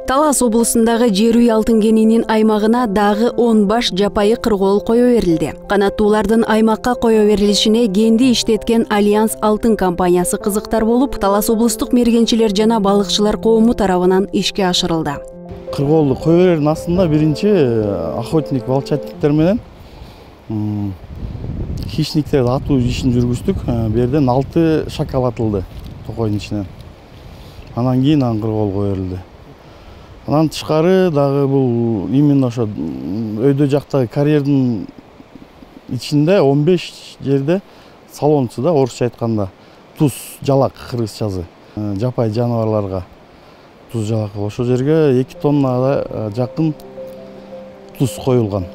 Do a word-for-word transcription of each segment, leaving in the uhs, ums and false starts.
Талас облусундагы жер үй алтын кенинин аймагына дагы он баш жапайы кыргоол кое берилди. Канаттуулардын аймакка кое берилишине кенди иштеткен Альянс алтын компаниясы кызыктар болуп, Талас облустук мергенчилер жана балыкчылар коому тарабынан ишке ашырылды. Кыргоолду кое берердин астында биринчи охотник волчатниктер менен хищниктерди атуу ишин жүргүздүк. Бу жерден алты шакал атылды токойдун ичинен. Анан кийин ан кыргоол кое берилди. Анан тышкары дагы бул именно ошо өйдө жактагы карьердин ичинде он беш жерде салончу да, орусча айтканда туз жалак кыргызчасы жапайы жаныбарларга туз жалак. Ошол жерге эки тоннага жакын туз коюлган.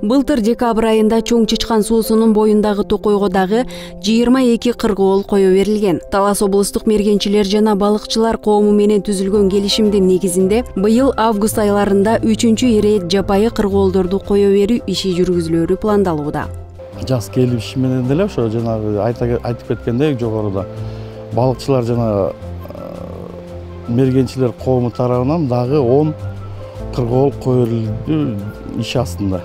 Былтыр декабрь айында Чоң Чычкан суусунун боюндагы токойго дагы жыйырма эки кыргоол кое берилген. Талас облустук мергенчилер жана балыкчылар коому менен түзүлгөн келишимдин негизинде быйыл август айларында үчүнчү ирет жапайы кыргоолдорду кое берүү иши жүргүзүлөрү пландалууда. Жаз келиши менен деле ошо жанагы айтып кеткендей жогоруда балыкчылар жана мергенчилер коому тарабынан дагы он кыргоол кое берилди иш астында.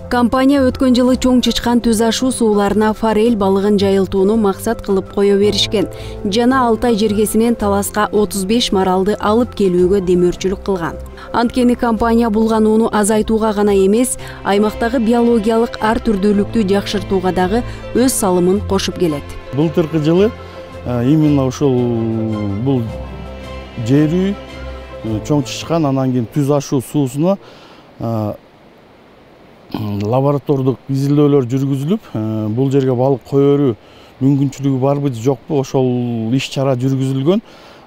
Компания өткөн жылы Чоң Чычкан түз ашуу сууларына форель балыгын жайылтууну максат кылып кое беришкен жана Алтай жергесинен Таласка отуз беш маралды алып келүүгө демөөрчүлүк кылган. Анткени компания булганууну азайтууга гана эмес, аймактагы биологиялык ар түрдүүлүктү жакшыртууга дагы өз салымын кошуп келет. Былтыркы жылы именно ушул бул жер үй Чоң Чычкан анан кийин түз ашуу суусуна лаборатордук изилдөөлөр жүргүзүлүп, бул жерге балык кое берүү мүмкүнчүлүгү барбы жокпу ошол иш чара жүргүзүлгөн.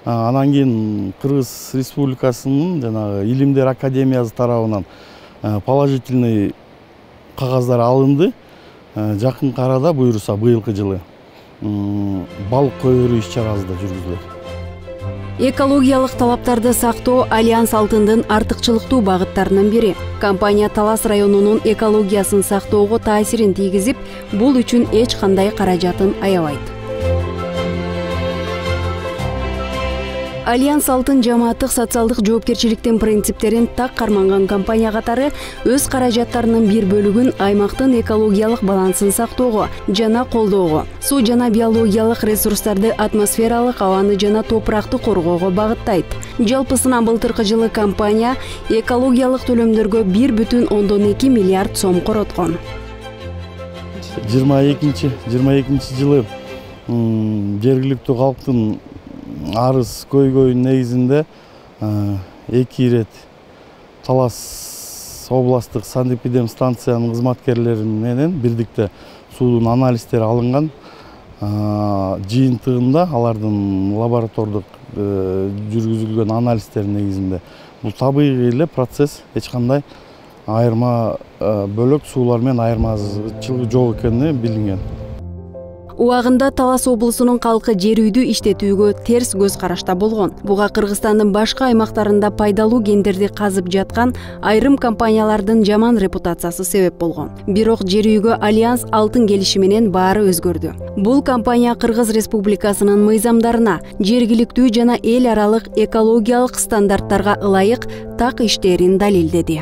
Анан кийин Кыргыз Республикасынын жанагы Илимдер академиясы тарабынан положительный кагаздар алынды. Жакынкы арада буюрса быйылкы жылы балык кое берүү иш чарасы да жүргүзүлөт. Экологиялык талаптарды сактоо Альянс алтындын артыкчылыктуу багыттарынын бири. Компания Талас районунун экологиясын сактоого таасирин тийгизип, бул үчүн эч кандай каражатын аябайт. Альянс алтын жамааттык социалдык жоопкерчиликтин принциптерин так карманган компания катары өз каражаттарынын бир бөлүгүн аймактын экологиялык балансын сактоого жана колдоого, суу жана биологиялык ресурстарды, атмосфералык абаны жана топуракты коргоого багыттайт. Жалпысынан былтыркы жылы компания экологиялык төлөмдөргө бир бүтүн ондон эки миллиард сом короткон. жыйырма экинчи жылы жергиликтүү калктын арыз көйгөйүнүн негизинде эки ирет Талас областтык санэпидем станциянын кызматкерлери менен бирдикте суудун анализдери алынган. Жыйынтыгында алардын лаборатордук жүргүзүлгөн анализдердин негизинде бул табигый эле процесс, эч кандай айырма бөлөк суулар менен айырмачылык жок экени билинген. Убагында Талас облусунун калкы жер үйдү иштетүүгө терс көз карашта болгон. Буга Кыргызстандын башка аймактарында пайдалуу кендерди казып жаткан айрым компаниялардын жаман репутациясы себеп болгон. Бирок жер үйгө Альянс алтын келиши менен баары өзгөрдү. Бул компания Кыргыз Республикасынын мыйзамдарына, жергиликтүү жана эл аралык экологиялык стандарттарга ылайык так иштерин далилдеди.